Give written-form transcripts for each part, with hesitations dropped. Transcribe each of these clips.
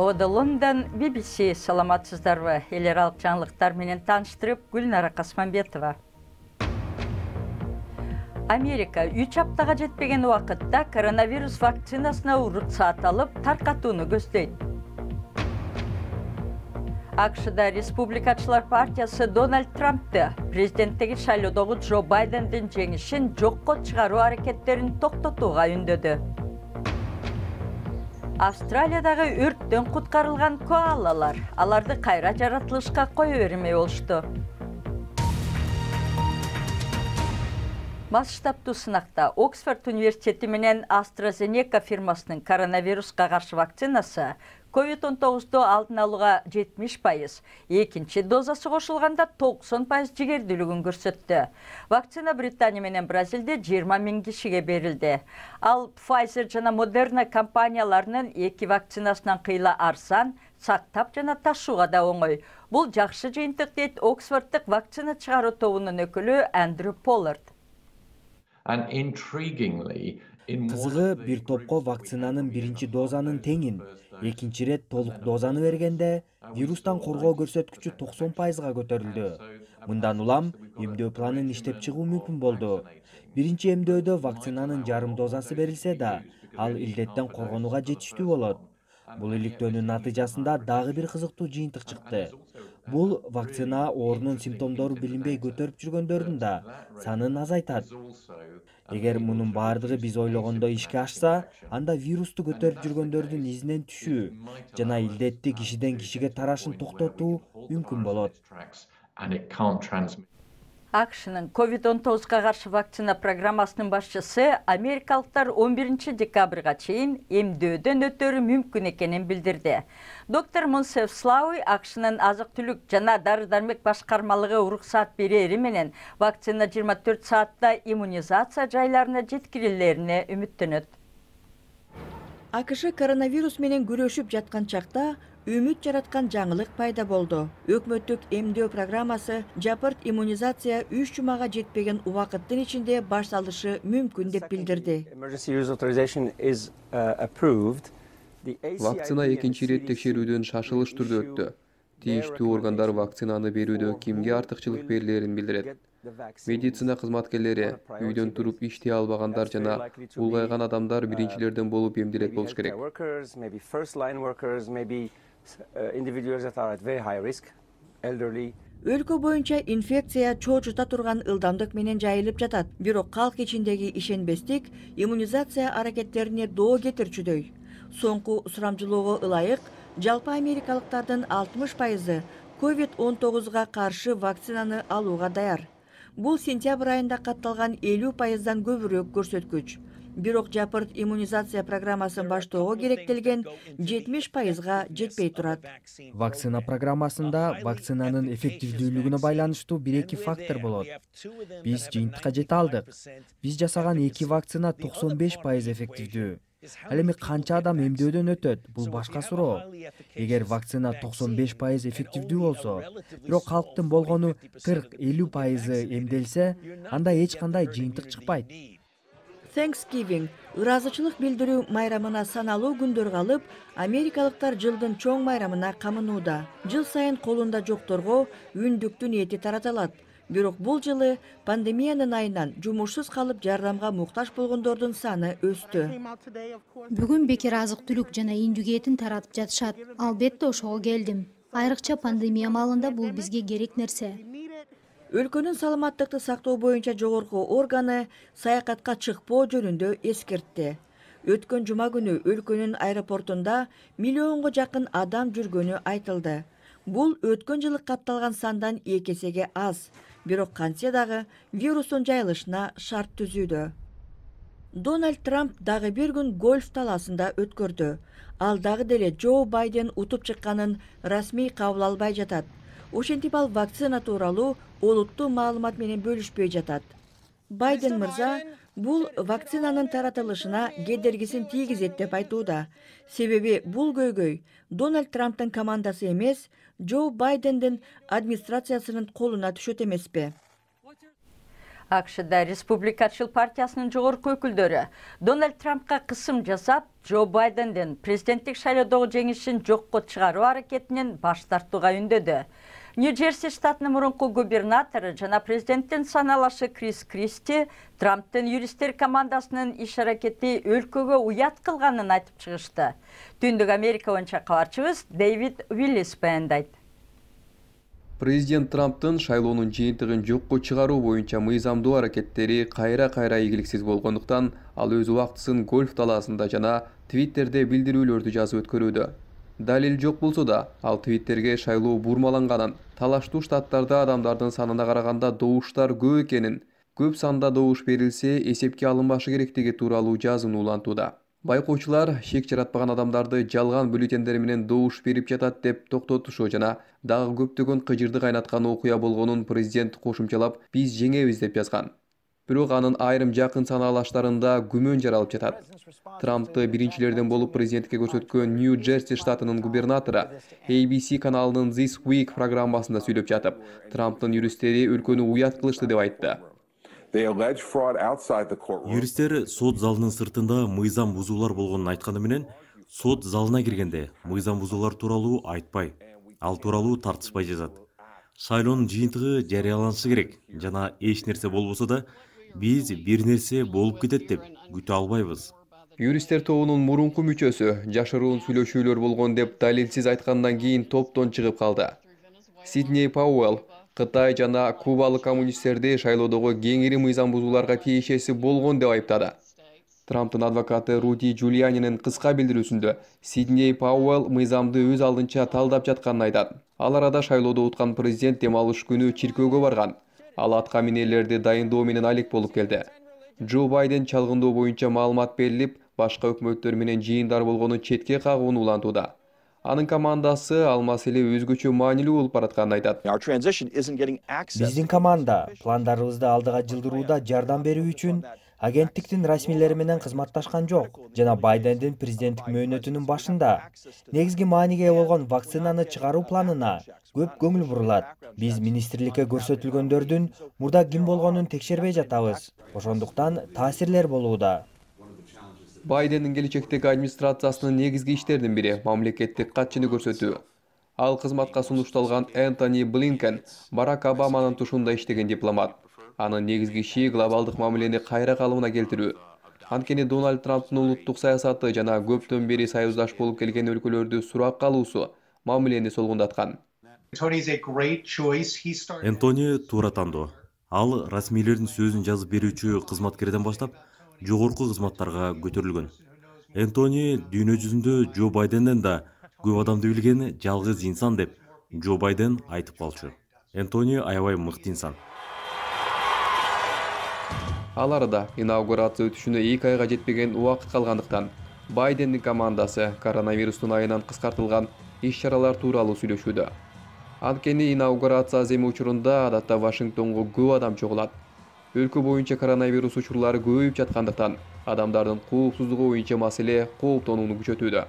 Лондон BBC саламатсыздарбы? Эл аралык жаңылыктар менен тааныштырып, Гүлнара Касманбетова. Америка 3 аптага жетпеген убакытта коронавирус вакцинасына уруксаат алып, таркатууну көздөйт. АКШда Республикачылар партиясы Дональд Трампты президенттиги шайлоодогу Джо Байдендин жеңишин жокко чыгаруу аракеттерин токтотууга үндөдү. Австралиядагы өрттөн куткарылган коалалар аларды кайра жаратылышка кое бермей болушту. Масштабтуу сынакта Оксфорд университети менен AstraZeneca фирмасынын коронавируска каршы вакцинасы COVID-19 алдын алууга 70%, экинчи дозасы кошулганда 90% жигердүүлүгүн көрсөттү. Вакцина Британия менен Бразилде 20 000 кишиге берилди. Ал Pfizer жана Moderna компанияларынын эки вакцинасынан кыйла арзан, сактап жана ташууга да оңой. Бул жакшы жыйынтык дейт Оксфорддук вакцина чыгаруу тобунун өкүлү Андрю Поллард. Кызыгы, бир топко вакцинанын биринчи дозанын теңин, экинчи ирет толук дозаны бергенде вирустан коргоо көрсөткүчү 90%га көтөрүлдү. Мындан улам эмдөө планын иштеп чыгуу мүмкүн болду. Биринчи эмдөөдө вакцинанын жарым дозасы берилсе да, ал илдеттен коргонууга жетиштүү болот. Бул иликтөөнүн натыйжасында дагы бир кызыктуу жыйынтык чыкты. Бул вакцина оорунун симптомдору билинбей көтөрүп жүргөндөрдүн да санын азайтат. Эгер мунун бардыгы биз ойлогондой ишке ашса, анда вирусту көтөрүп жүргөндөрдүн изинен түшүү жана илдетти кишиден кишиге тарашын токтотуу мүмкүн болот. АКШнын COVID-19га каршы вакцина программасынын башчысы америкалыктар 11 декабрга чейин эмдөөдөн өтөрү мүмкүн экенин билдирди. Доктор Монсеф Слауи АКШнын азык-түлүк жана дары-дармек башкармалыгы уруксаат берери менен вакцина 24 саатта иммунизация жайларына жеткирилерине үмүттөнөт. АКШ коронавирус менен күрөшүп жаткан чакта үмүт жараткан жаңылык пайда болду. Өкмөттүк эмдөө программасы жапырт иммунизация 3 жумага жетпеген убакыттын ичинде башталышы мүмкүн деп билдирди. Вакцина экинчи ирет текшерүүдөн шашылыш түрдө өттү. Тийиштүү органдар вакцинаны берүүдө кимге артыкчылык берилерин билдирет. Медицина кызматкерлери, үйдөн туруп иштей албагандар жана улгайган адамдар биринчилерден болуп эмдилет болуш керек. Өлкө боюнча инфекция чоочута турган ылдамдык менен жайылып жатат. Бирок калк ичиндеги ишенбестик иммунизация аракеттерине доо кетирчүдөй. Соңку сурамжылоого ылайык, жалпы америкалыктардын 60%-ы COVID-19га каршы вакцинаны алууга даяр. Бул сентябрь айында катталган 50%дан көбүрөөк көрсөткүч. Бирок жапырт иммунизация программасын баштоого керектелген 70%га жетпей турат. Вакцина программасында вакцинанын эффективдүүлүгүнө байланыштуу бир-эки фактор болот. Биз жыйынтыкка жете алдык. Биз жасаган 2 вакцина 95% эффективдүү. Ал эми канча адам эмдөөдөн өтөт, бул башка суроо. Эгер вакцина 95% эффективдүү болсо, бирок калктын болгону 40-50% эмделсе, анда эч кандай жыйынтык чыкпайт. Thanksgiving ыраазычылык билдирүү майрамына саналуу күндөр калып, америкалыктар жылдын чоң майрамына камынууда. Жыл сайын колунда жокторго үндүктүн эти таратылат. Бирок бул жылы пандемиянын айынан жумушсуз калып жардамга муктаж болгондордун саны өстү. Бүгүн бекер азык-түлүк жана индүк этин таратып жатышат. Албетте ошого келдим. Айрыкча пандемия маалында бул бизге керек нерсе. Өлкөнүн саламаттыкты сактоо боюнча жогорку органы саякатка чыкпоо жөнүндө эскертти. Өткөн жума күнү өлкөнүн аэропортунда миллионго жакын адам жүргөнү айтылды. Бул өткөн жылы катталган сандан 2 эсеге аз. Бирок кантсе дагы вирустун жайылышына шарт түзүүдө. Дональд Трамп дагы бир күн гольф талаасында өткөрдү. Ал дагы деле Джо Байден утуп чыкканын расмий кабыл албай жатат. Ошентип ал вакцина тууралуу олуттуу маалымат менен бөлүшпөй жатат. Байден мырза бул вакцинанын таратылышына кедергисин тийгизет деп айтууда. Себеби бул көйгөй Дональд Трамптын командасы эмес, Джо Байдендин администрациясынын колуна түшөт эмеспи? АКШда Республикачыл партиясынын жогорку өкүлдөрү Дональд Трампка кысым жасап, Джо Байдендин президенттик шайлоодогу жеңишин жокко чыгаруу аракетинен баш тартууга үндөдү. Нью-Джерси штатынын мурунку губернатору жана президенттин саналашы Крис Кристи Трамптын юристтер командасынын иш аракети өлкөгө уят кылганын айтып чыгышты. Түндүк Америка боюнча кабарчыбыз Дэвид Уиллис баяндайт. Президент Трамптын шайлоонун жыйынтыгын жокко чыгаруу боюнча мыйзамдуу аракеттери кайра-кайра ийгиликсиз болгондуктан ал өз убактысын гольф талаасында жана Твиттерде билдирүүлөрдү жазып өткөрүүдө. Далил жок болсо да, ал Твиттерге шайлоо бурмаланганын, талаштуу штаттарда адамдардын санына караганда добуштар көп экенин, көп санда добуш берилсе эсепке алынбашы керектиги тууралуу жазууну улантууда. Байкоочулар шек жаратпаган адамдарды жалган бюллетендер менен добуш берип жатат деп токтотушу жана дагы көптөгөн кыжырды кайнаткан окуя болгонун президент кошумчалап, биз жеңебиз деп жазган. Бирок анын айрым жакын санаалаштарында күмөн жаралып жатат. Трампты биринчилерден болуп президентке көрсөткөн Нью-Джерси штатынын губернатору ABC каналынын This Week программасында сүйлөп жатып, Трамптын юристтери өлкөнү уят кылышты деп айтты. Юристтер сот залынын сыртында мыйзам бузуулар болгонун айтканы менен, сот залына киргенде мыйзам бузуулар тууралуу айтпай, ал тууралуу тартышпай жазат. Шайлоонун жыйынтыгы жарыяланышы керек жана эч нерсе болбосо да биз бир нерсе болуп кетет деп күтө албайбыз. Юристтер тобунун мурунку мүчөсү жашыруун сүйлөшүүлөр болгон деп далилсиз айткандан кийин топтон чыгып калды. Сидней Пауэлл Кытай жана кубалык коммунисттерди шайлоодогу кеңири мыйзам бузууларга тиешеси болгон деп айыптады. Трамптын адвокаты Руди Джулианинин кыска билдирүүсүндө Сидней Пауэлл мыйзамды өз алдынча талдап жатканын айтат. Ал арада шайлоодо уткан президент дем алыш күнү чиркөөгө барган. Ал атка минерлерди дайындоо менен алек болуп келди. Джо Байден чалгындоо боюнча маалымат берилип, башка өкмөттөр менен жыйындар болгону четке кагууну улантууда. Анын командасы ал маселе өзгөчө маанилүү болуп баратканын айтат. Биздин команда пландарыбызды алдыга жылдырууда жардам берүү үчүн агенттиктин расмийлери менен кызматташкан жок жана Байдендин президенттик мөөнөтүнүн башында негизги мааниге ээ болгон вакцинаны чыгаруу планына көп көңүл бурулат. Биз министрликке көрсөтүлгөндөрдүн мурда ким болгонун текшербей жатабыз. Ошондуктан таасирлер болууда. Байдендин келечектеги администрациясынын негизги иштеринин бири мамлекеттик катчыны көрсөтүү. Ал кызматка сунушталган Энтони Блинкен Барак Обаманын тушунда иштеген дипломат. Анын негизги иши глобалдык мамилени кайра калыбына келтирүү. Анткени Дональд Трамптын улуттук саясаты жана көптөн бери союздаш болуп келген өлкөлөрдү суракка алуусу мамилени солгундаткан. Энтони туура тандоо. Ал расмийлердин сөзүн жазып берүүчү кызматкерден баштап жогорку кызматтарга көтөрүлгөн. Энтони дүйнө жүзүндө Джо Байденден да көп адамды билген жалгыз инсан деп Джо Байден айтып калчу. Энтони аябай мыкты инсан. Ал арада инаугурация өтүшүнө 2 айга жетпеген убакыт калгандыктан Байдендин командасы коронавирустун айынан кыскартылган иш-чаралар тууралуу сүйлөшүүдө. Анткени инаугурация аземи учурунда адатта Вашингтонго көп адам чогулат. Өлкө боюнча коронавирус учурлары көбөйүп жаткандыктан адамдардын коопсуздугу боюнча маселе кооптонууну күчөтүүдө.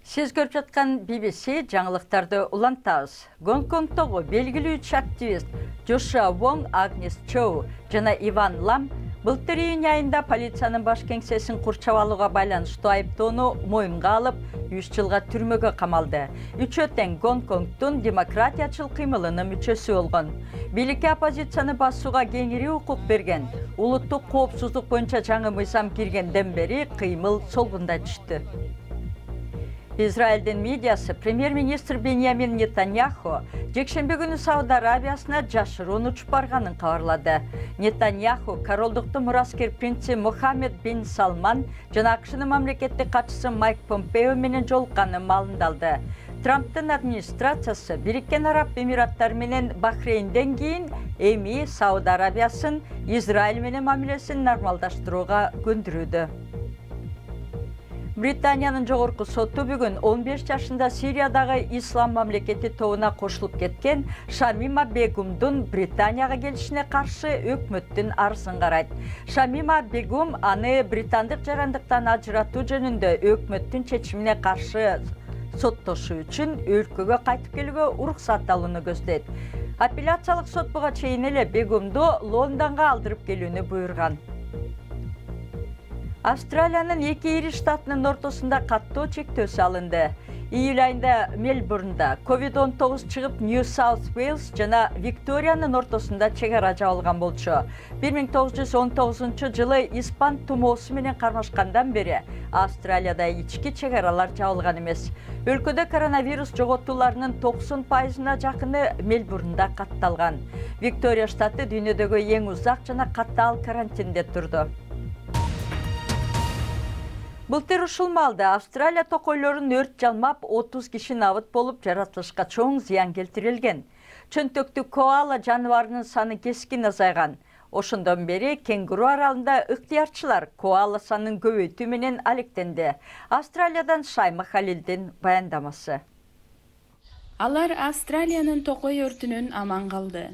Сиз көрүп жаткан BBC жаңылыктарды улантабыз. Гонконгдогу белгилүү үч активист Джошуа Вонг, Агнес Чоу жана Иван Лам былтыр июнь айында полициянын баш кеңсесин курчап алууга байланыштуу айыптоону моюнга алып, 3 жылга түрмөгө камалды. Үчөө тең Гонконгдун демократиячыл кыймылынын мүчөсү болгон. Бийликке оппозицияны басууга кеңири укук берген, улуттук коопсуздук боюнча жаңы мыйзам киргенден бери кыймыл солгунда түштү. Израилдин медиасы премьер-министр Беньямин Нетаньяху жекшембе күнү Сауд Арабиясына жашыруун учуп барганын кабарлады. Нетаньяху королдуктун мураскер принци Мухаммед бин Салман жана АКШнын мамлекеттик катчысы Майк Помпео менен жолукканын маалымдалды. Трамптын администрациясы Бириккен Араб Эмираттары менен Бахрейнден кийин эми Сауд Арабиясын Израиль менен мамилесин нормалдаштырууга көндүрүүдө. Британиянын жогорку соту бүгүн 15 жашында Сириядагы Ислам мамлекети тобуна кошулуп кеткен Шамима Бегумдун Британияга келишине каршы өкмөттүн арызын карайт. Шамима Бегум аны британдык жарандыктан ажыратуу жөнүндө өкмөттүн чечимине каршы соттошу үчүн өлкөгө кайтып келүүгө уруксат алууну көздөйт. Апелляциялык сот буга чейин эле Бегумду Лондонго алдырып келүүнү буйрган. Австралиянын 2 ири штатынын ортосунда каттоо чектөө салынды. Июль айында Мельбурнда COVID-19 чыгып, Нью-Саут-Уэльс жана Викториянын ортосунда чек ара жабылган болчу. 1919-жылы испан тумоосу менен кармашкандан бери Австралияда ички чек аралар жабылган эмес. Өлкөдө коронавирус жоготууларынын 90%-на жакыны Мельбурнда катталган. Виктория штаты дүйнөдөгү эң узак жана катаал карантинде турду. Былтыр ушул маалда Австралия токойлорун өрт жалмап 30 киши набыт болуп жаратылышка чоң зыян келтирилген. Чөнтөктүү коала жаныбарынын саны кескин азайган. Ошондон бери Кенгуру аралында ыктыярчылар коала санын көбөйтүү менен алектенди. Австралиядан Шайма Халилдин баяндамасы. Алар Австралиянын токой өртүнөн аман калды.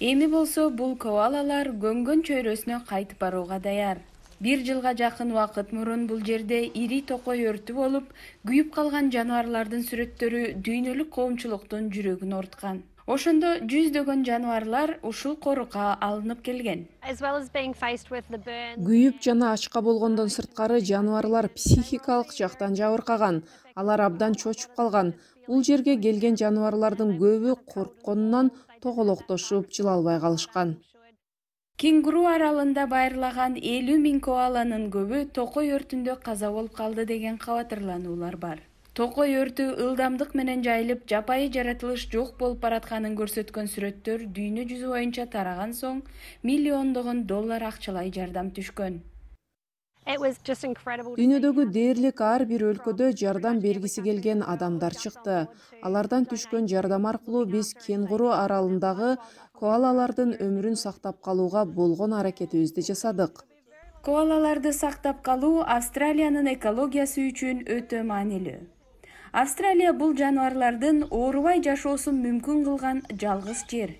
Эми болсо бул коалалар көнгөн чөйрөсүнө кайтып барууга даяр. 1 жылга жакын убакыт мурун бул жерде ири токой өртү болуп, күйүп калган жаныбарлардын сүрөттөрү дүйнөлүк коомчулуктун жүрөгүн орткан. Ошондо жүздөгөн жаныбарлар ушул корукка алынып келген. Күйүп жана ачка болгондон сырткары жаныбарлар психикалык жактан жабыркаган. Алар абдан чочуп калган. Бул жерге келген жаныбарлардын көбү коркконунан тоголоктошуп жылалбай калышкан. Кенгуру аралында байырлаган 50 000 коаланын көбү токой өртүндө каза болуп калды деген кабатырлануулар бар. Токой өртү ылдамдык менен жайылып, жапайы жаратылыш жок болуп баратканын көрсөткөн сүрөттөр дүйнө жүзү боюнча тараган соң миллиондогон доллар акчалай жардам түшкөн. Дүйнөдөгү дээрлик ар бир өлкөдө жардам бергиси келген адамдар чыкты. Алардан түшкөн жардам аркылуу биз Кенгуру аралындагы коалалардын өмүрүн сактап калууга болгон аракетибизди жасадык. Коалаларды сактап калуу Австралиянын экологиясы үчүн өтө маанилүү. Австралия бул жаныбарлардын оорубай жашоосун мүмкүн кылган жалгыз жер.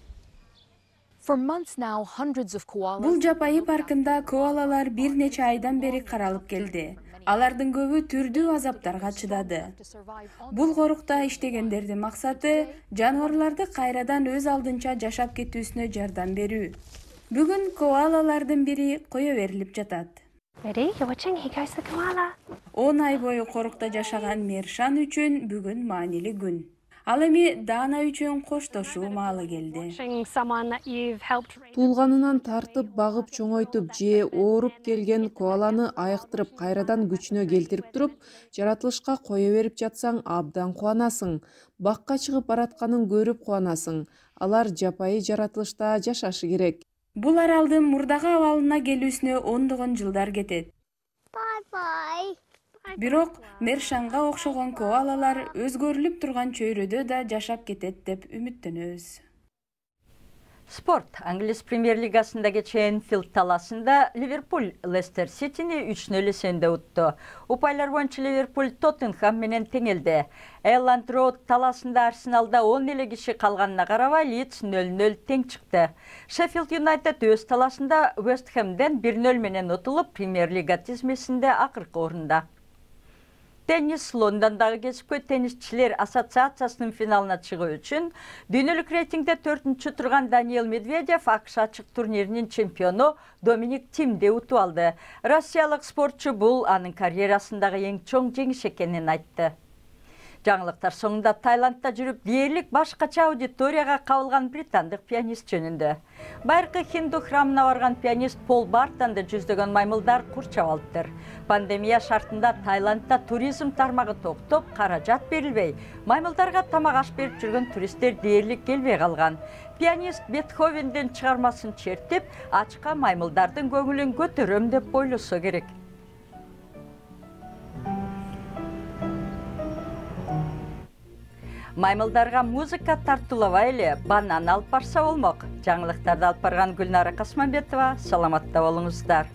Бул жапайы паркында коалалар бир нече айдан бери каралып келди. Алардын көбү түрдүү азаптарга чыдады. Бул корукта иштегендердин максаты жаныбарларды кайрадан өз алдынча жашап кетүүсүнө жардам берүү. Бүгүн коалалардын бири кое берилип жатат. 10 ай бою корукта жашаган Мершан үчүн бүгүн маанилүү күн. Ал эми Дана үчүн коштошуу маалы келди. Туулганынан тартып, багып, чоңойтуп же ооруп келген коаланы айыктырып, кайрадан күчүнө келтирип туруп, жаратылышка кое берип жатсаң абдан кубанасың. Бакка чыгып баратканын көрүп кубанасың. Алар жапайы жаратылышта жашашы керек. Бул аралдын мурдагы абалына келүүсүнө ондогон жылдар кетет. Бирок Мершанга окшогон коалалар өзгөрүлүп турган чөйрөдө да жашап кетет деп үмүттөнөбүз. Спорт. Англис премьер-лигасында кечээ Энфилд таласында Ливерпуль Лестер Ситини 3-0 эсебинде утту. Упайлар боюнча Ливерпуль Тоттенхам менен теңелди. Элланд Роуд таласында Арсеналда 10 эле киши калганына карабай Лидс 0-0 тең чыкты. Шеффилд Юнайтед өз таласында Вест Хэмден 1-0 менен утулуп, премьер-лига тизмесинде акыркы орунда. Теннис. Лондондагы кесипкөй теннисчилер ассоциациясынын финалына чыгуу үчүн дүйнөлүк рейтингде 4-чү турган Даниэл Медведев АКШ ачык турниринин чемпиону Доминик Тимди утуп алды. Россиялык спортчу бул анын карьерасындагы эң чоң жеңиш экенин айтты. Жаңылыктар соңунда Таиландда жүрүп дээрлик башкача аудиторияга кабылган британдык пианист жөнүндө. Байыркы хинду храмына барган пианист Пол Бартонду жүздөгөн маймылдар курчап алыптыр. Пандемия шартында Таиландда туризм тармагы токтоп, каражат берилбей, маймылдарга тамак аш берип жүргөн туристтер дээрлик келбей калган. Пианист Бетховендин чыгармасын чертип, ачка маймылдардын көңүлүн көтөрөм деп ойлосо керек. Маймылдарга музыка тартуулабай эле банан алып барса болмок. Жаңылыктарды алып барган Гүлнара Касманбетова. Саламатта болуңуздар.